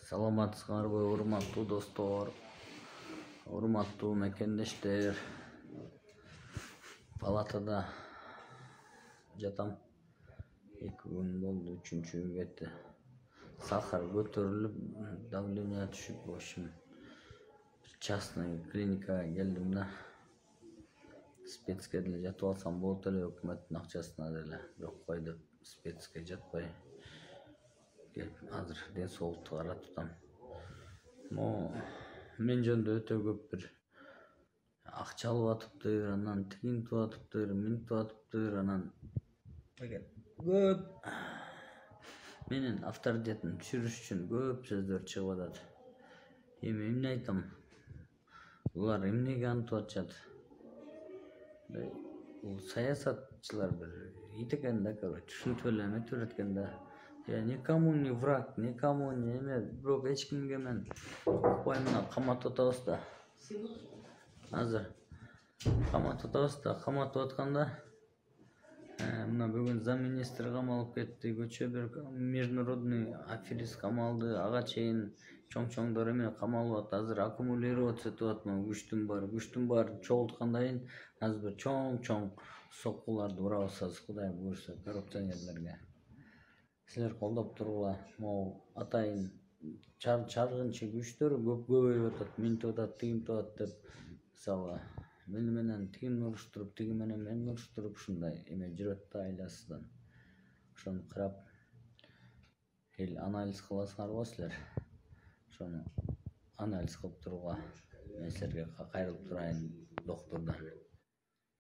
Саламатсыңарбы, урматтуу достор, урматтуу мекендештер. Палатада жатам. 2 күн болду, 3-чү кетти. Сахар көтөрүлүп, давление түшүп, в общем, частный клиникага келдим да. Спецке деле жатып алсам болот эле, өкмөттүн акчасына деле. Бирок кой деп спецке жатпай келип азыр ден соолукту карап атам. Мен жөнүндө өтө көп бир акча алып атыптыр, анан тигинтип атыптыр, минтип атыптыр, анан көп менин авторитетимди түшүрүш үчүн көп сөздөр чыгып атат. Эми эмне айтам? Булар эмнеге антип атышат? Бул саясатчылар бир ит экен да, түшүнүп эле эметип берет экен да. Я никому не враг, никому не эме, бирок эч кимге мен укпай мына каматып атабыз да. Азыр каматып атабыз да, каматып атканда мына бүгүн замминистр камалып кетти, көчө бир международный аферист камалды, ага чейин чоң-чоңдор эме камалып атат. Азыр аккумулироваться этип атат, күчтүн баары чогулткандан кийин азыр бир чоң-чоң соккуларды урабыз азыр, Кудай буйрса, коррупционерлерге. Силер колдоп тургула, могу атайын чаргынчы күчтөр көп көбөйүп атат, минтип атат, тигинтип атат деп, мисалы, мени менен тигин уруштуруп, тиги менен мени уруштуруп, ушундай эме жүрөт да айласыздан. Ошону карап, эл анализ кыласыңарбы силер? Ошону анализ кылып тургула. Мен силерге кайрылып турайын, доктурдар.